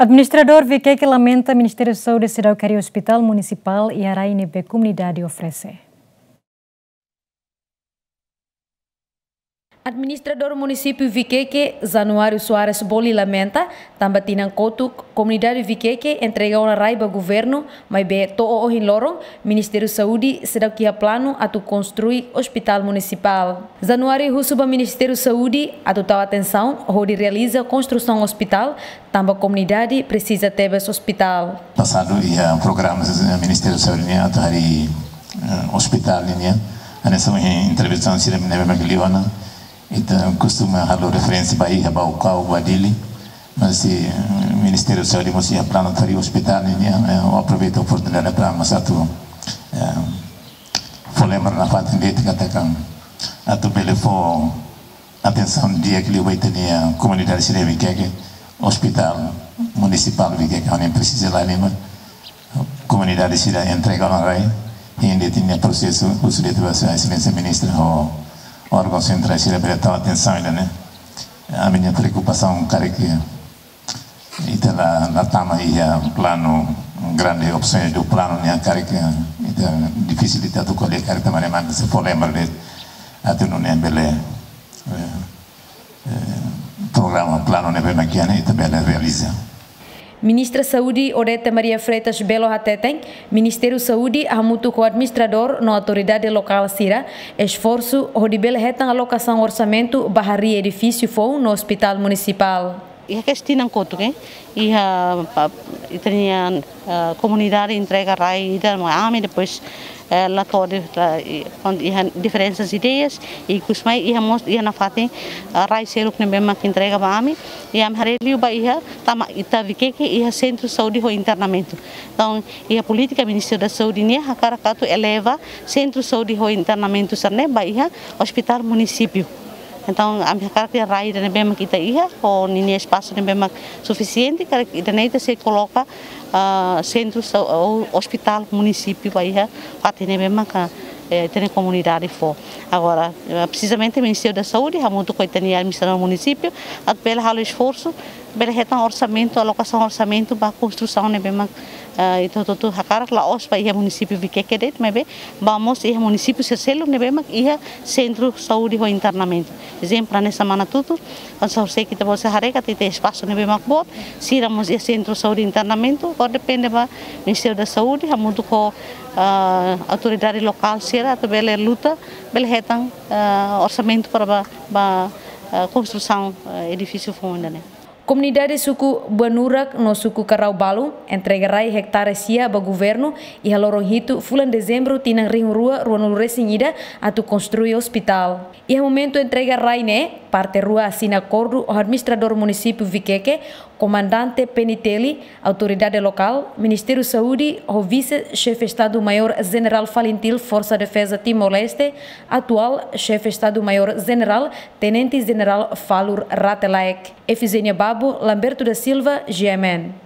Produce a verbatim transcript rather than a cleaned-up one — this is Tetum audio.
Administradór Viqueque lamenta Ministériu Saúde seidauk harii ospitál munisipál iha rai ne'ebé komunidade oferese. Administradór Munisípiu Viqueque, Januário Soares Boli, lamenta tanba tinan kotuk komunidade Viqueque entrega ona rai ba governu, maibé to'o ohin loron Ministériu Saúde seidauk iha planu atu konstrui ospitál munisipál. Januário husu ba Ministériu Saúde atu tau atensaun hodi realiza konstrusaun ospitál, tanba komunidade presiza tebes ospitál. Pasadu iha programa, eh, Ministériu Saúde nian atu harii, eh, ospitál nian, hanesan ohin entrevista sira ne'ebé mak liu ona, ita kostuma halo referénsia ba iha Baucau, ba Dili, mas, eh, Ministériu Saúde mós iha planu atu harii ospitál nian, eh, ha'u aproveita oportunidade para mós atu, eh, fó lembra nafatin de'it katak atu bele fó atensaun di'ak liu ba ita-nia komunidade sira Viqueque, ospitál munisipál Viqueque, ha'u hanoin presiza la lima, komunidade sira entrega ona rai, i ita-nia prosesu, husu de'it ba Sua Exelénsia Ministra ho órgaun sentrál sira bele tau atensaun ida-ne'e. Ami-nia preokupasaun karik ita la, la tama iha planu, grande opsaun do planu nian karik ita difisil ita atu ko'alia karik tanba ne'e mak se fó lembra de'it atu nune'e bele, eh, eh, programa, planu ne'ebé mak iha ne'e ita bele realiza. Ministra Saúde Odete Maria Freitas Belo hateten, Ministériu Saúde hamutuk ho administradór no autoridade lokál sira esforsu hodi bele hetan alokasaun orsamentu ba harii edifísiu foun no ospitál munisipál. Iha kestaun kotuk, eh, iha pa, ita-nia, eh, komunidade entrega rai ida mai ami, depois, eh, la to'o de'it, la, i, kon, iha diferensa ideias, i ikusmai iha mós, iha nafatin, eh, rai seluk ne'ebé mak entrega ba ami, i ami haree liu ba iha, tanba ita Viqueque iha sentru saúde ho internamentu. Entaun, iha polítika Ministériu da Saúde nian hakarak atu eleva sentru saúde ho internamentu sira-ne'e ba iha ospitál munisípiu. Entaun, ami hakarak iha rai ida ne'ebé mak ita iha, ho ninia espasu ne'ebé mak sufisiente, karik ida-ne'e ita sei koloka, ah, sentru sa-, ou ospitál munisípiu ba iha fatin ne'ebé mak, eh, ita-nia komunidade fó. Agora, eh, presizamente Ministériu da Saúde hamutuk ho ita-nia administrasaun munisípiu, atu bele halo esforsu, bele hetan orsamentu, alokasaun orsamentu ba konstrusaun ne'ebé mak, eh, ita hotu-hotu hakarak, la'ós ba iha munisípiu Viqueque de'it, maibé ba mós iha munisípiu sira seluk ne'ebé mak iha sentru saúde ho internamentu. Ezemplu, hanesan Manatuto, hanesan José, ita-boot sira haree katak iha espasu ne'ebé mak boot, sira mós iha sentru saúde internamentu, agora depende ba Ministériu da Saúde, hamutuk ho, ah, autoridade lokál sira, atu bele luta, bele hetan, ah, orsamentu para ba, ba, ah, konstrusaun, ah, edifísiu foun ida-ne'e. Komunidade suku Buanurak no suku Karau Balu entrega rai ektare sia ba governu iha loron hitu fulan Dezembru tinan rihun rua ruanulu resin ida atu konstrui ospitál. Iha momentu entrega rai ne'e, parte rua asina akordu ho administradór munisípiu Viqueque, komandante P N T L, autoridade lokál, Ministériu Saúde, ho Vise-Xefe Estadu Maiór Jenerál Falintil Forsa Defeza Timor-Leste, atuál Xefe Estadu Maiór Jenerál, Tenente Jenerál Falur Rate Laek. Efizénia Babo, Lamberto da Silva, G M N.